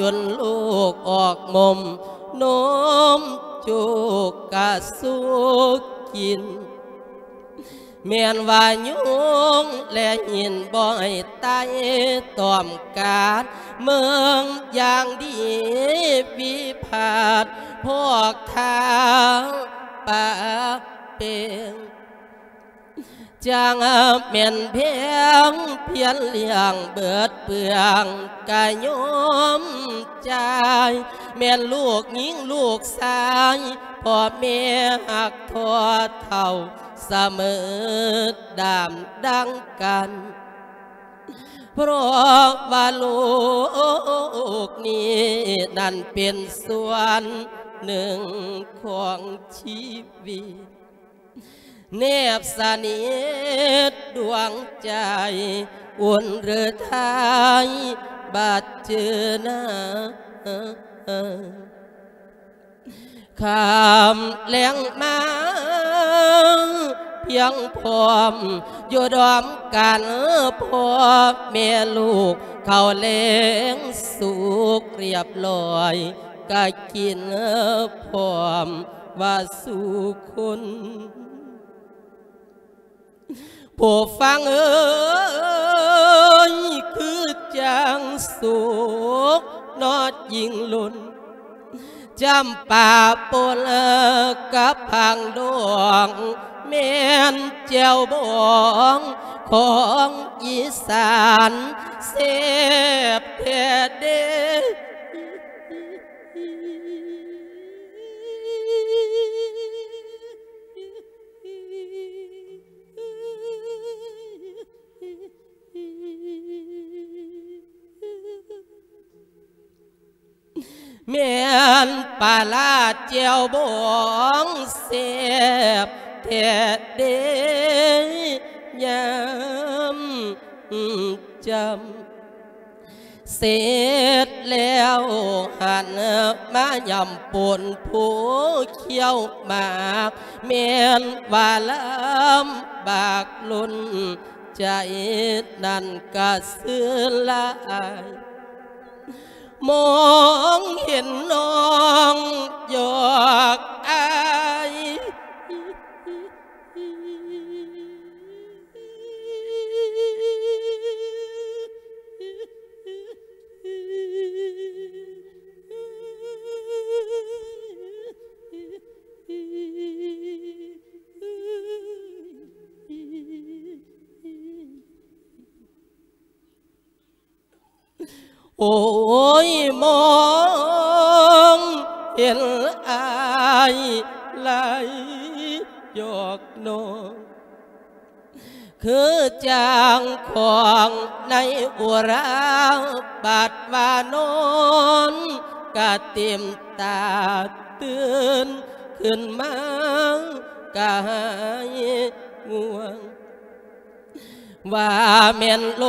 ຈົນລູກອອກນົມ ນົມຈຸກກະສຸກກິນ. ແມ່ນວ່າຍຸງແລະຫີນບໍ່ໃຫ້ໄຕ່ ຕ້ອມການເມືອງຢ່າງດີ ວິພາດພວກທ່າປະເປັນ. ຈັ່ງແມ່ນແພງພຽນລ້ຽງເບີດເປືອງກະຍອມຈ່າຍ, ແມ່ນລູກຍິງລູກຊາຍ ພໍ່ແມ່ຮັກທໍ່ເທົ່າສະເໝີດາມດັ່ງກັນ. ເພາະວ່າໂລກນີ້ນັ້ນເປັນສ່ວນໜຶ່ງຂອງຊີວິດ ແນບສະໜິດດວງໃຈ ອຸ່ນເຫຼືອໄທບາດເຈີນາ. ຄ່ຳແລງມາພຽງພ້ອມ ຢູ່ດອມກັນພໍ່ແມ່ລູກ ເຂົ້າແລງສຸກລຽບລ້ອຍ ກະກິນພ້ອມວ່າສູ່ຄົນ. ຜູ້ຟັງເອີຍ ຄືຈັ່ງສຸກເນາະຍິ່ງລົ້ນ ຈຳປາປົນກັບຜັງດອງ ແມ່ນແຈ່ວບອງຂອງອີສານ ແຊບແທ້ເດ້. ແມ່ນປາຫຼ້າແຈ່ວບອງແຊບແທ້ເດ້ ຍາມຈຳ ເສັດແລ້ວຫັນມາຫຍ້ຳປົນຜູ້ຂ້ຽວໝາກ ແມ່ນວ່າລຳບາກລົ້ນໃຈນັ້ນກະຊື່ຫຼາຍ ມອງເຫັນນ້ອງຢອກອາຍ. ໂອ້ຍ ມອງເຫັນອ້າຍໄຫຼຢອກນ້ອງ ຄືຈັ່ງຂອງໃນອຸຣາ ບາດວ່ານອນກະເຕັມຕາ ຕື່ນຂຶ້ນມາກະຫາຍງ່ວງ. ວ່າແມ່ນໂລ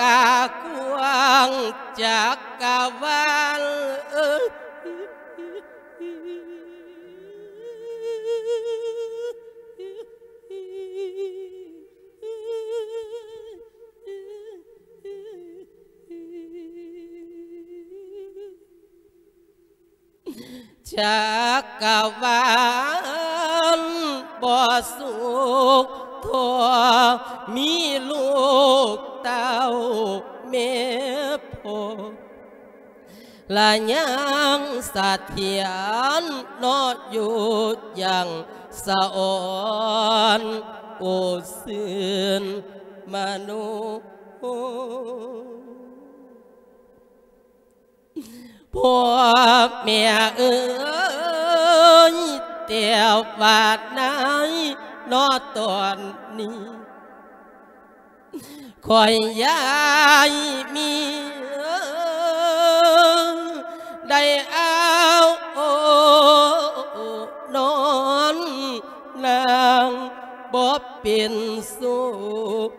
ກາກວ້າງຈັກກະວານ ຈັກກະວານບໍ່ສຸກທໍ່ ມີລູກເຕົ້າແມ່ພໍ່ ລະຍັງສະຖຽນເນາະ ຢູ່ຢ່າງສະອອນ ໂອຊື່ນມະໂນ. ພໍ່ແມ່ເອີຍ ແຕ່ວ່າໃນເນາະຕອນນີ້ ຂ້ອຍຢາຍມີໄດ້ເອົານອນນາງບໍ່ເປັນສຸກ.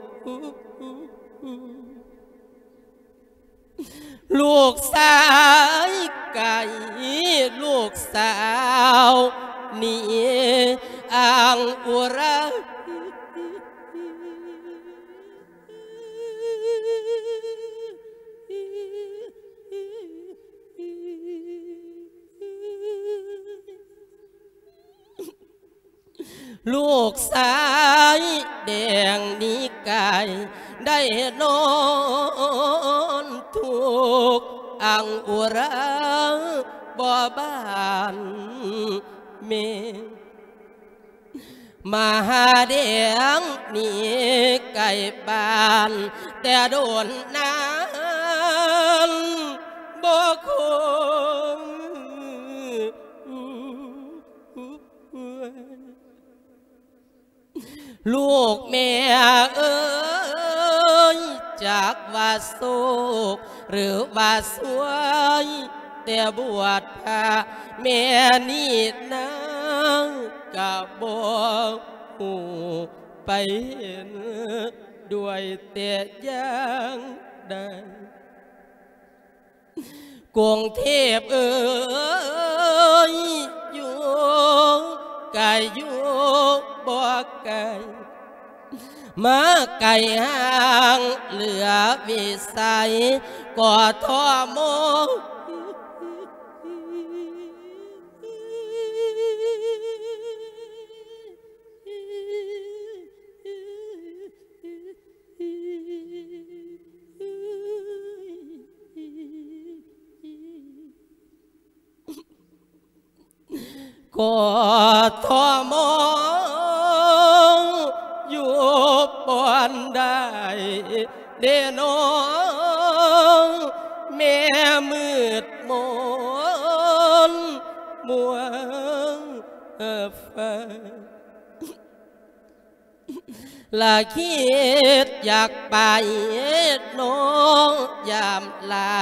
ລູກຊາຍໄກ່ ລູກສາວໜີອ້າງອຸຣາ. ລູກຊາຍແດງໜີກາຍ ໄດ້ນອນທຸກອັ່ງອຸຣາ ບໍ່ບ້ານແມ່ ມະຫາແດງໜີໄກບ້ານ ແຕ່ດົນນານບໍ່ຄົນ ລູກແມ່ເອີຍ ຈັກວ່າໂຊກ ຫຼືວ່າຊວຍ ແຕ່ບວດພະ ແມ່ນີ້ນາງກະບໍ່ຮູ້ ໄປເຫັນດ້ວຍແຕ່ຢ່າງໃດ. ກຸງເທບເອີຍ ຢູ່ໄກຢູ່ບໍ່ໄກ ມາໄກຫ່າງເຫຼືອວິໄສ ກທມ. ກທມ ຢູ່ບ່ອນໃດເດນ້ອງ ແມ່ມືດມົນ ມົວໄຟ ລະຄິດຢາກໄປນ້ອງ ຢາມລາ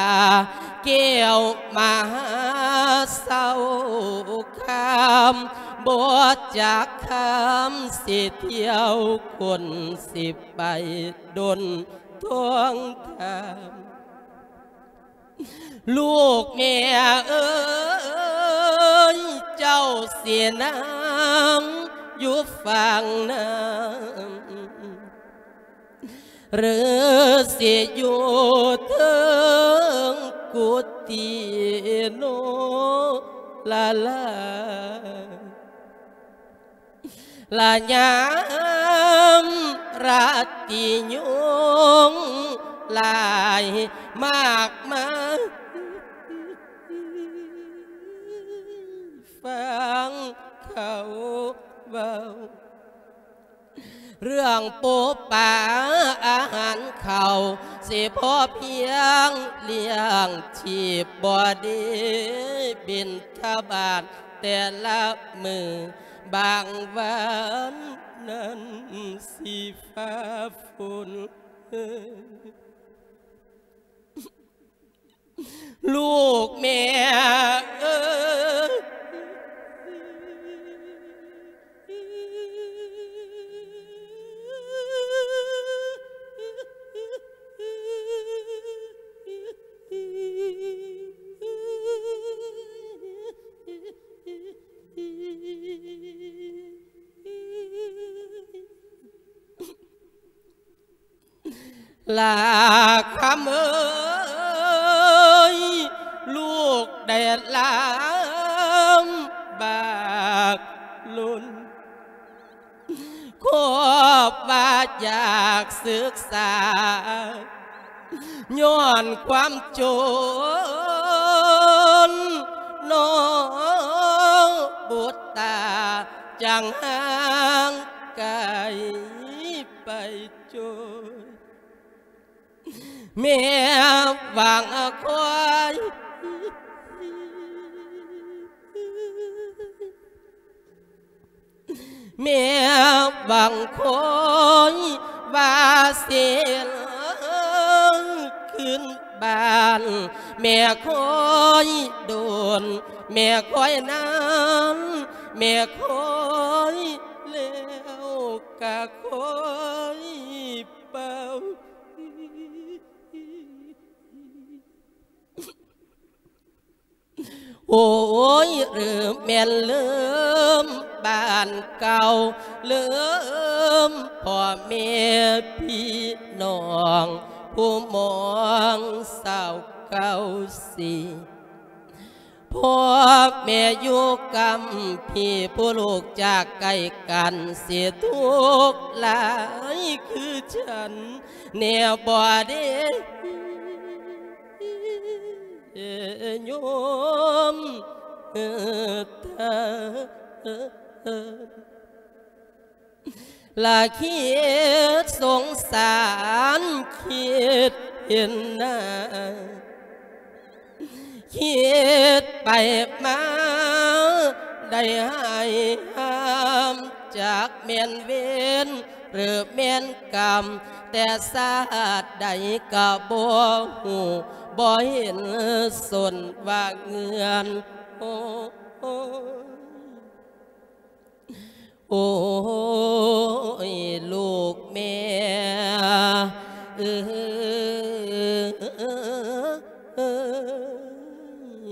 ແກ້ວມະຫາເຊົາຄາມ ບໍ່ຈັກຄຳ ຊິທ່ຽວຄົນ ຊິໄປດົນທວງຖາມ. ລູກແມ່ເອີຍ ເຈົ້າຊິນັ່ງຢູ່ຝັ່ງນັ້ນ ຫຼືຊິຢູ່ເທິງກຸຕິໂນລະລາ? ລະຍາມລາຕີຍຸງຫຼາຍມາກມາຍ ຟັງເຂົາເວົ້າ ເລື່ອງປູປາອາຫານເຂົ້າ ຊິພໍພຽງລ້ຽງຊີບບໍ່ດີ ບິນທະບາດແຕ່ລະມື້ ບາງວັນນັ້ນຊິຟ້າຝົນ. ລູກແມ່ເອີຍ ລາຄຳເອີຍ ລູກໄດ້ລຳບາກລົ້ນ ຄວບວ່າຢາກສຶກສາ ຍ້ອນຄວາມຈົນ ນ້ອງບຸດຕາຈັ່ງຫ່າງໄກໄປຈົນ ແມ່ຫວັງຄອຍ ແມ່ຫວັງຄອຍວ່າຊິຄືນບ້ານ ແມ່ຄອຍດົນ ແມ່ຄອຍນານ ແມ່ຄອຍແລ້ວກະຄອຍເປົ່າ. ໂອ້ຍ ຫຼືແມ່ນລືມບ້ານເກົ່າ ລືມພໍ່ແມ່ພີ່ນ້ອງ ຜູ້ມອງສາວເກົ່າສີ ພ ພໍ່ແມ່ຢູ່ກຳພີ້ ຜູ້ລູກຈາກໄກກັນ ຊິທຸກຫຼາຍຄືກັນແດ່ບໍ່ເດ ໂຍມເອີ. ລະຄິດສົງສານ ຄິດເຫັນໜ້າ ຄິດໄປມາ ໄດ້ໃຫ້ຫ້າມ ຈັກແມ່ນເວນ ຫຼືແມ່ນກຳ ແຕ່ຊາດໃດກະບໍ່ຮູ້ ບໍ່ເຫັນສົນວ່າເງື່ອນ ໂອ້ຍ. ໂອ້ຍ ລູກແມ່ເອີຍ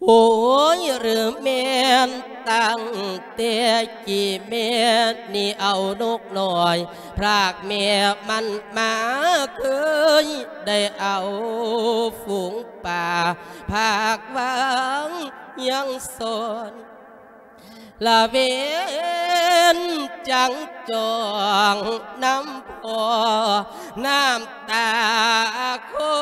ໂອ້ຍ ຫຼືແມ່ນຕັ້ງແຕ່ກີ້ແມ່ນີ້ເອົານົກນ້ອຍ ພຣາກແມ່ມັນມາ ເຄີຍໄດ້ເອົາຝູງປາ ພາກວາງຍັງສອນ ລະເວນຈັງຈອງນຳພໍ່ ນ້ຳຕາຄອ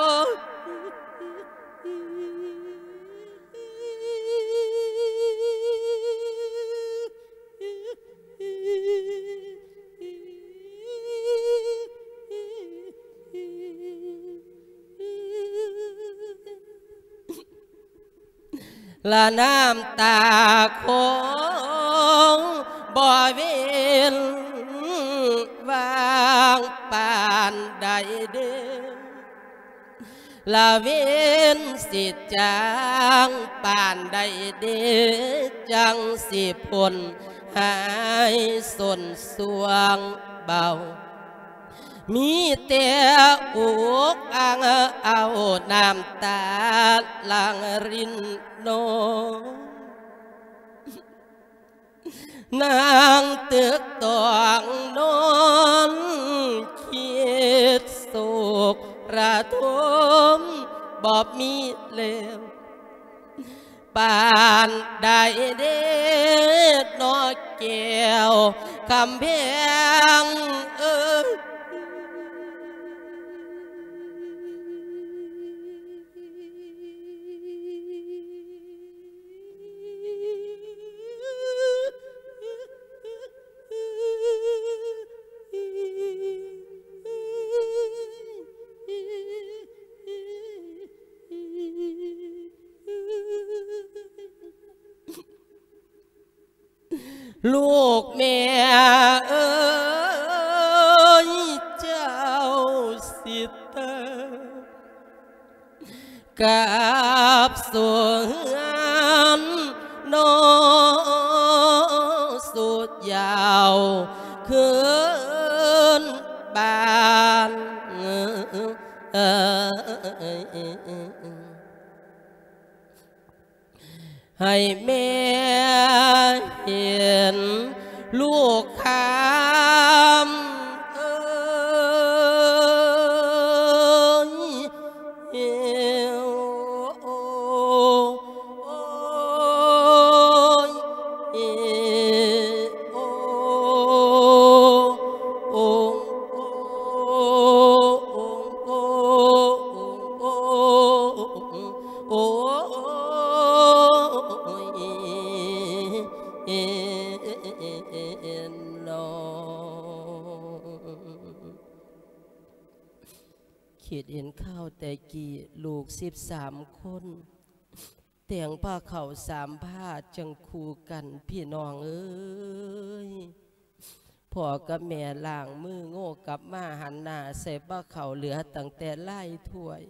ລະນ້ຳຕາຄອງບໍ່ເວັ້ນວ່າງປານໃດເດ ລະເວນຊິຈາງປານໃດເດ ຈັ່ງຊິພົ້ນຫາຍສົນຊ່ວງເບົາ. ມີແຕ່ອຸກອັ່ງເອົານ້ຳຕາຫຼັ່ງລິນນອງ ນັ່ງຕຶກຕອງນອນຄິດໂສກລະທົມບໍ່ມີແລ້ວ. ປານໃດເດເນາະແກ້ວຄຳແພງເອີຍ. ລູກແມ່ເອີຍ ເຈົ້າຊິຕາຍກັບສູ່ເຮືອນນອນສູ່ຢາວຄືນບ້ານ. ໃຫ້ແມ່ເຫັນລູກຄຳເອີຍ. ໂອ້ຍ ເນາະ ຄິດເຫັນຄາວແຕ່ກີ້ ລູກສິບສາມຄົນ ແຕ່ງພາເຂົ້າສາມພາຈັ່ງຄູ່ກັນ ພີ່ນ້ອງເອີຍ. ພໍ່ກັບແມ່ລ້າງມືໂງ່ກັບມາ ຫັນໜ້າໃສ່ພາເຂົ້າ ເຫຼືອຕັ້ງແຕ່ລາຍຖ້ວຍ.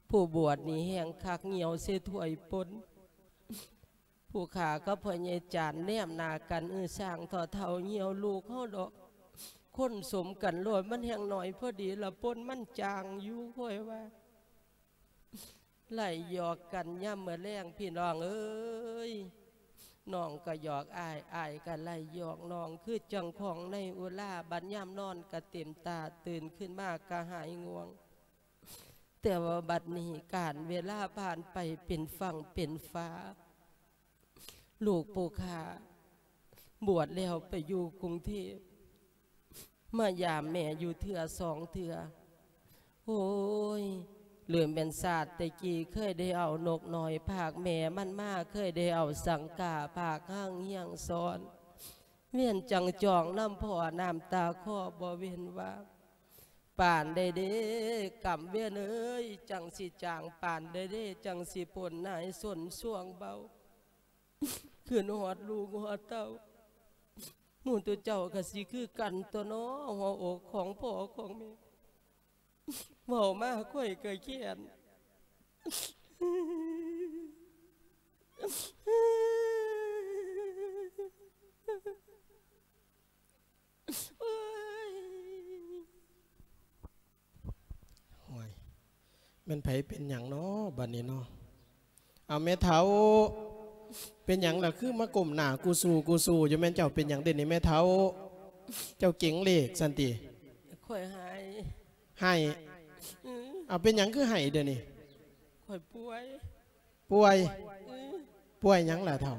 ຜູ້ບວດນີ້ແຮ່ງຄັກ ຍ່ຽວໃສ່ຖ້ວຍປົນ. ຜູ້ຂ້າກັບພໍ່ໃຫຍ່ຈານແນມໜ້າກັນ ເອີ ຊ່າງເຖົ້າໆ ຍ່ຽວລູກເຮົາດອກ. ຄົນສົມກັນໂລດ ມັນແຮ່ງໜ້ອຍພໍດີລະ ປົນມັນຈາງຢູ່ ຂ້ອຍວ່າ. ໄລ່ຫຍອກກັນຍາມມື້ແລງ ພີ່ນ້ອງເອີຍ. ນ້ອງກໍຫຍອກອ້າຍ ອ້າຍກໍໄລ່ຫຍອກນ້ອງ ຄືຈັ່ງຂອງໃນອຸລາ. ບັດຍາມນອນກໍເຕັມຕາ ຕື່ນຂຶ້ນມາກໍຫາຍງ່ວງ. ຕ່ວ່າບັດນີ້ການເວລາຜ່ານໄປເປັນຝັ່ງເປັນຟ້າ ລູກຜູ້ຂ້າບວດແລ້ວໄປຢູ່ກຸງເທບ ມາຢາມແມ່ຢູ່ເທື່ອສອງເທື່ອ. ໂອ້ຍ ຫຼືແມ່ນຊາດແຕ່ກີ້ເຄີຍໄດ້ເອົານົກນ້ອຍພາກແມ່ມັນມາ ເຄີຍໄດ້ເອົາສັງກາພາກຮັ່ງຮຽງສອນ ວຽນຈັ່ງຈອງນຳພໍ່ ນ້ຳຕາຄໍບໍ່ເວັ້ນວ່າ ປານໃດເດ້ ກຳວຽນເອີຍ ຈັ່ງຊິຈາງ ປານໃດເດ້ ຈັ່ງຊິພົ້ນໜ້າຍສົນຊ່ວງເບົາ. ຄືນຮອດລູກຮອດເຕົ້າ ໝູ່ໂຕເຈົ້າກໍຊິຄືກັນຕົວເນາະ ຫົວອົກຂອງພໍ່ຂອງແມ່ ເວົ້າມາຂ້ອຍກໍແຄ້ນ. ໂອ້ຍ ໂອ້ຍ ແມ່ນໃຜເປັນຫຍັງເນາະ ບັດນີ້ເນາະ? ເອົາ ແມ່ເຖົ້າ ເປັນຫຍັງລະ ຄືມາກົ້ມໜ້າກູຊູ ກູຊູຢູ່? ແມ່ນເຈົ້າເປັນຫຍັງເດນີ້ ແມ່ເຖົ້າ? ເຈົ້າເກັງເລກຊັ້ນຕິ? ຂ້ອຍໄຫ້ ໄຫ້. ອື ເອົາ ເປັນຫຍັງຄືໄຫ້ເດນີ້? ຂ້ອຍປ່ວຍ ປ່ວຍ. ອື ປ່ວຍຫຍັງລະເຖົ້າ?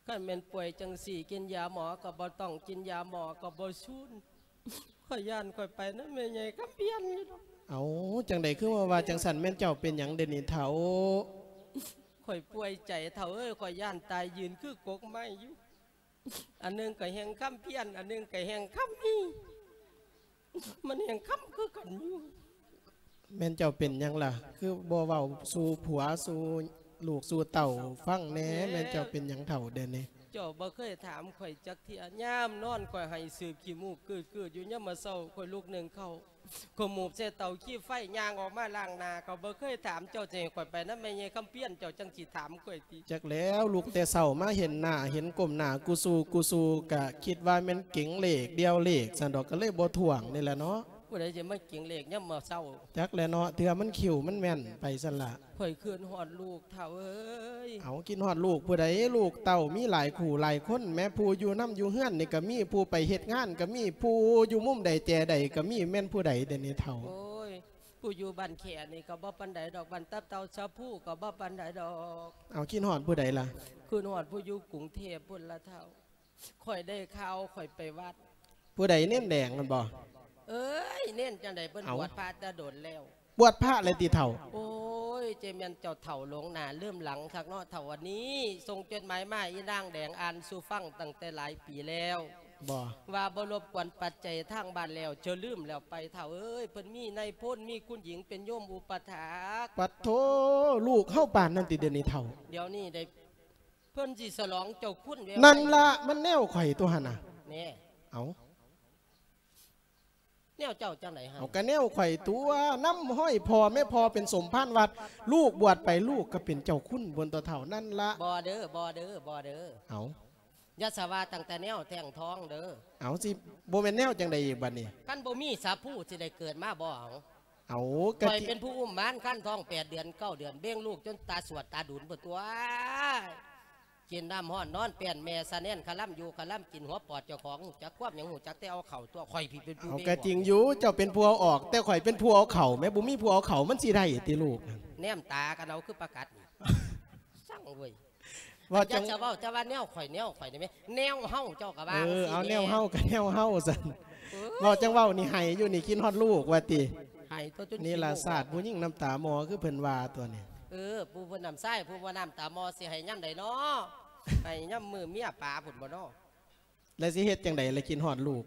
ຄັນແມ່ນປ່ວຍຈັ່ງຊີ້ ກິນຢາໝໍກໍບໍ່ຕ້ອງ ກິນຢາໝໍກໍບໍ່ສູນ. ຂ້ອຍຢ້ານຂ້ອຍໄປນຳແມ່ໃຫຍ່ຄຳພຽນຢູ່ດອກ. ເອົາ ຈັ່ງໃດຄືມາວ່າຈັ່ງຊັ້ນ? ແມ່ນເຈົ້າເປັນຫຍັງເດນີ້ເຖົ້າ? ຂ້ອຍປ່ວຍໃຈເຖົ້າເອີຍ ຂ້ອຍຢ້ານຕາຍຢືນຄືກົກໄມ້ຢູ່. ອັນໜຶ່ງກໍແຮ່ງຄຳພຽນ ອັນໜຶ່ງກໍແຮ່ງຄຳມີ ມັນແຮ່ງຄຳຄືກັນຢູ່. ແມ່ນເຈົ້າເປັນຫຍັງລະ ຄືບໍ່ເວົ້າສູ່ຜົວ ສູ່ລູກ ສູ່ເຕົ້າຟັງແດ່? ແມ່ນເຈົ້າເປັນຫຍັງເຖົ້າດຽວນີ້? ເຈົ້າບໍ່ເຄີຍຖາມຂ້ອຍຈັກເທື່ອ. ຍາມນອນຂ້ອຍໄຫ້ສືບຂີ້ມູກກືດໆຢູ່ ຍາມມາເຊົ້າຂ້ອຍລຸກໜຶ້ງເຂົ້າ ຂ້ອຍໝູບໃສ່ເຕົາຂີ້ໄຟ ຍ່າງອອກມາລ້າງໜ້າ ກໍບໍ່ເຄີຍຖາມເຈົ້າ ຈະໃຫ້ຂ້ອຍໄປນຳແມ່ໃຫຍ່ຄຳພຽນ ເຈົ້າຈັ່ງຊິຖາມຂ້ອຍຕິ? ຈັກແລ້ວ ລຸກແຕ່ເຊົ້າມາເຫັນໜ້າ ເຫັນກົ້ມໜ້າກູຊູ ກູຊູ ກະຄິດວ່າແມ່ນເກັງເລກ ດ່ຽວເລກຊັ້ນດອກ ກໍເລີຍບໍ່ທ້ວງນີ້ແຫຼະເນາະ. ຜູ້ໃດຊິມາເກັງເລກຍາມມາເຊົ້າ? ຈັກແຫຼະເນາະ ເທື່ອມັນຄິວມັນແມ່ນໄປຊັ້ນລະ. ຂ້ອຍຄິດຮອດລູກເຖົ້າເອີຍ. ເອົາ ຄິດຮອດລູກຜູ້ໃດ? ລູກເຕົ້າມີຫຼາຍຄູ່ຫຼາຍຄົນແມ້ ຜູ້ຢູ່ນຳຢູ່ເຮືອນນີ້ກໍມີ ຜູ້ໄປເຮັດງານກໍມີ ຜູ້ຢູ່ມຸມໃດແຈໃດກໍມີ ແມ່ນຜູ້ໃດເດນີ້ເຖົ້າ? ໂອ້ຍ ຜູ້ຢູ່ບ້ານແຂນີ້ກໍບໍ່ປານໃດດອກ ບ້ານຕັບເຕົ່າຊະພູກໍບໍ່ປານໃດດອກ. ເອົາ ຄິດຮອດຜູ້ໃດລະ? ຄິດຮອດຜູ້ຢູ່ກຸງເທບພຸ້ນລະເຖົ້າ. ຂ້ອຍໄດ້ຂ່າວ ຂ້ອຍໄປວັດ. ຜູ້ໃດ? ເນນແດງນັ້ນບໍ? ເອີຍ ເນນຈັ່ງໃດ ເພິ່ນ ເອົ້າ ບວດພະແຕ່ດົນແລ້ວ. ບວດພະແລ້ວຕິເຖົ້າ? ໂອ້ຍ ເຈແມ່ນເຈົ້າເຖົ້າຫຼົງໜ້າລືມຫຼັງຄັກເນາະເຖົ້າ. ອັນນີ້ສົ່ງຈົດໝາຍມາ ອີນາງແດງອ່ານສູ່ຟັງຕັ້ງແຕ່ຫຼາຍປີແລ້ວ ບໍ່ ວ່າບໍ່ລົບກວນປັດໄຈທາງບ້ານແລ້ວ ເຈົ້າລືມແລ້ວໄປເຖົ້າເອີຍ. ເພິ່ນມີນາຍພົນ ມີຄຸນຍິງເປັນໂຍມອຸປະຖາກ. ປັດໂທ ລູກເຮົາປານນັ້ນຕິດຽວນີ້ເຖົ້າ? ດຽວນີ້ໄດ້ ເພິ່ນຊິສະຫຼອງເຈົ້າຄຸນແວວ ນັ້ນລະ ມັນແນວຂ້ອຍຕົວຫັ້ນນະ. ແນ່ ເອົ້າ ແນວເຈົ້າຈັ່ງໃດຫັ້ນ? ເອົາ ກະແນວຂ້ອຍຕົວະ ນຳຮອຍພໍ່ແມ່ ພໍ່ເປັນສົມພານວັດ ລູກບວດໄປ ລູກກໍເປັນເຈົ້າຄຸນພຸ້ນຕົວະເຖົ້າ ນັ້ນລະ. ບໍ່ເດີ ບໍ່ເດີ ບໍ່ເດີ. ເອົ້າ ຢ່າສະວ່າຕັ້ງແຕ່ແນວແທ່ງທອງເດີ. ເອົ້າ ຊິບໍ່ແມ່ນແນວຈັ່ງໃດອີກບັດນີ້? ຄັນບໍ່ມີສາພູຊິໄດ້ເກີດມາບໍ່? ເອົາ ເອົາ ກະ ຂ້ອຍເປັນຜູ້ອຸ້ມມານຄັນທ້ອງແປດເດືອນເກົ້າເດືອນ ເບັ່ງລູກຈົນຕາສວດຕາດຸນພຸ້ນຕົວະ. ກິນນ້ຳຮ້ອນນອນແປ້ນແມ່ສະແໜ້ນ ຄະລຳຢູ່ຄະລຳກິນຫົວປອດເຈົ້າຂອງ ຮູ້ຈັກຄວາມຫຍັງ ຮູ້ຈັກແຕ່ເອົາເຂົ້າຕົວະ. ຂ້ອຍພີ້ເປັນຜູ້ ເອົາ ເບັ່ງ ກະຈິງຢູ່ ເຈົ້າເປັນຜູ້ເອົາອອກ ແຕ່ຂ້ອຍເປັນຜູ້ເອົາເຂົ້າແໝ ບໍ່ມີຜູ້ເອົາເຂົ້າມັນຊິໄດ້ຕິລູກ? ແນມຕາກັນເອົາຄືປາກັດນີ້ ຊ່າງເວີຍ. ເວົ້າ ຈັກ ຈັ່ງ ຈະເວົ້າ ຈະວ່າແນວຂ້ອຍ ແນວຂ້ອຍໄດ້ແມ ແນວເຮົາ ເຈົ້າກໍວ່າ ເອີ ຈັ່ງຊີ້ ເອົາແນວເຮົາ ແມ່ ກໍແນວເຮົາຊັ້ນ. ເອີ ເວົ້າຈັ່ງເວົ້ານີ້ ໄຫ້ຢູ່ນີ້ ຄິດຮອດລູກວ່າຕິ? ໄຫ້ຕົວະ ຈົນ ນີ້ລະ ຂີ້ມູກ ຊາດຜູ້ຍິງນ້ຳຕາໝໍ ຄືເພິ່ນວ່າຕົວະນີ້. ເອີ ຜູ້ບໍ່ນ້ຳຊາຍ ຜູ້ບໍ່ນ້ຳຕາໝໍ ຊິໄຫ້ຍາມໃດເນາະ? ໄຫ້ຍາມມື້ເມຍປາພຸ້ນບໍ່ເນາະ? ແລ້ວຊິເຮັດຈັ່ງໃດລະ ຄິດຮອດລູກ?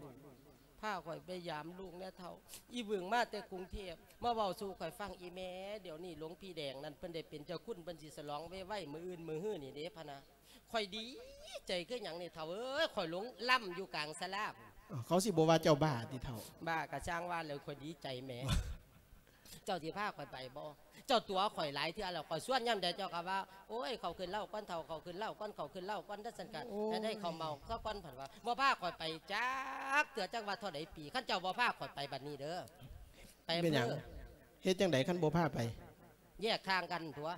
ພາຂ້ອຍໄປຢາມລູກແດ່ເຖົ້າ. ອີບຶງມາແຕ່ກຸງເທບ ມາເວົ້າສູ່ຂ້ອຍຟັງ ອີແມ່ ດຽວນີ້ຫຼວງພີ່ແດງນັ້ນ ເພິ່ນໄດ້ເປັນເຈົ້າຄຸນ ເພິ່ນຊິສະຫຼອງໄວໆ ມື້ອື່ນມື້ຮືນີ້ເດ້ ພະນະ. ຂ້ອຍດີໃຈຄືຫຍັງນີ້ເຖົ້າເອີຍ ຂ້ອຍຫຼົງລຳຢູ່ກາງສາລາ. ເຂົາຊິບໍ່ວ່າເຈົ້າບ້າຕິເຖົ້າ? ບ້າກະຊ່າງວ່າແຫຼະ ຂ້ອຍດີໃຈແໝ. ເຈົ້າຊິພາຂ້ອຍໄປບໍ່? ເຈົ້າຕົວະຂ້ອຍຫຼາຍເທື່ອແລ້ວ ຂ້ອຍຊວນຍາມໃດເຈົ້າກໍວ່າ ໂອ້ຍ ເຂົ້າຂຶ້ນເລົ້າກ່ອນເຖົ້າ ເຂົ້າຂຶ້ນເລົ້າກ່ອນ ເຂົ້າຂຶ້ນເລົ້າກ່ອນ ຈັ່ງຊັ້ນກະ ໂອ້ຍ ຈະໄດ້ເຂົ້າເມົາຊະກ່ອນ ເພິ່ນວ່າ ບໍ່ພາຂ້ອຍໄປຈັກເທື່ອ ຈັກວ່າເທົ່າໃດປີ ຄັນເຈົ້າບໍ່ພາຂ້ອຍໄປບັດນີ້ເດີ ໄປ ເປັນຫຍັງ? ເພິ່ນ ເຮັດຈັ່ງໃດຄັນບໍ່ພາໄປ? ແຍກທາງກັນຕົວະ.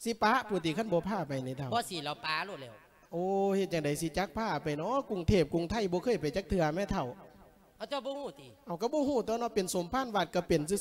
ຊິປະພຸ້ນຕິ ຄັນບໍ່ພາໄປນີ້ເຖົ້າ? ບໍ່ຊິແລ້ວ ປະໂລດແລ້ວ. ໂອ້ ເຮັດຈັ່ງໃດຊິຈັກພາໄປເນາະ ກຸງເທບກຸງໄທບໍ່ເຄີຍໄປຈັກເທື່ອແມ້ເຖົ້າ. ເອົາ ເຈົ້າບໍ່ຮູ້ຕິ? ເອົາ ກໍບໍ່ຮູ້ຕົວະເນາະ ເປັນສົມພານວັດກໍເປັນຊື່